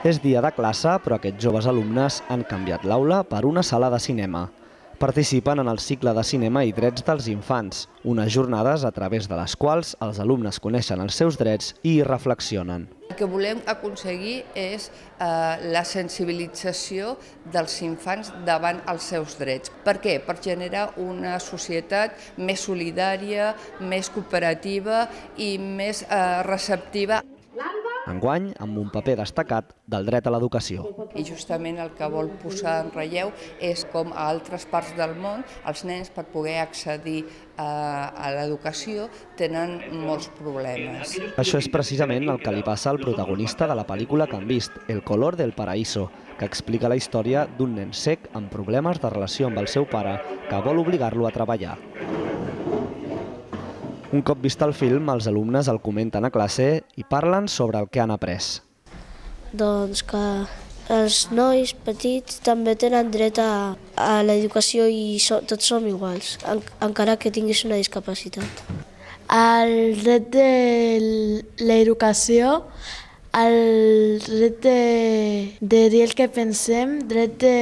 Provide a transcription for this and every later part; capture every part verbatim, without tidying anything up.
És dia de classe, però aquests joves alumnes han canviat l'aula per una sala de cinema. Participen en el cicle de cinema i drets dels infants, unes jornades a través de les quals els alumnes coneixen els seus drets i hi reflexionen. El que volem aconseguir és eh, la sensibilització dels infants davant els seus drets. Per què? Per generar una societat més solidària, més cooperativa i més eh, receptiva. Enguany, amb un paper destacat del dret a l'educació. I justament el que vol posar en relleu és com a altres parts del món els nens, per poder accedir a, a l'educació, tenen molts problemes. Això és precisament el que li passa al protagonista de la pel·lícula que han vist, El color del paraíso, que explica la història d'un nen cec amb problemes de relació amb el seu pare que vol obligar-lo a treballar. Un cop vist el film, els alumnes el comenten a classe i parlen sobre el que han après. Doncs que els nois petits també tenen dret a, a l'educació i so, tots som iguals, en, encara que tinguis una discapacitat. El dret de l'educació, el dret de, de dir el que pensem, dret de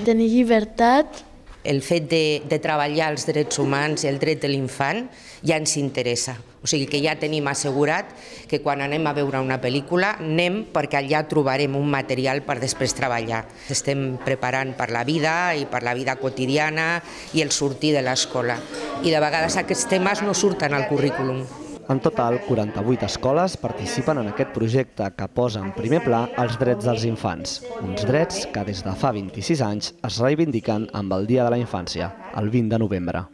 tenir llibertat. El fet de, de treballar els drets humans i el dret de l'infant ja ens interessa. O sigui que ja tenim assegurat que quan anem a veure una pel·lícula anem perquè allà trobarem un material per després treballar. Estem preparant per la vida i per la vida quotidiana i el sortir de l'escola. I de vegades aquests temes no surten al currículum. En total, quaranta-vuit escoles participen en aquest projecte que posa en primer pla els drets dels infants. Uns drets que des de fa vint-i-sis anys es reivindiquen amb el Dia de la Infància, el vint de novembre.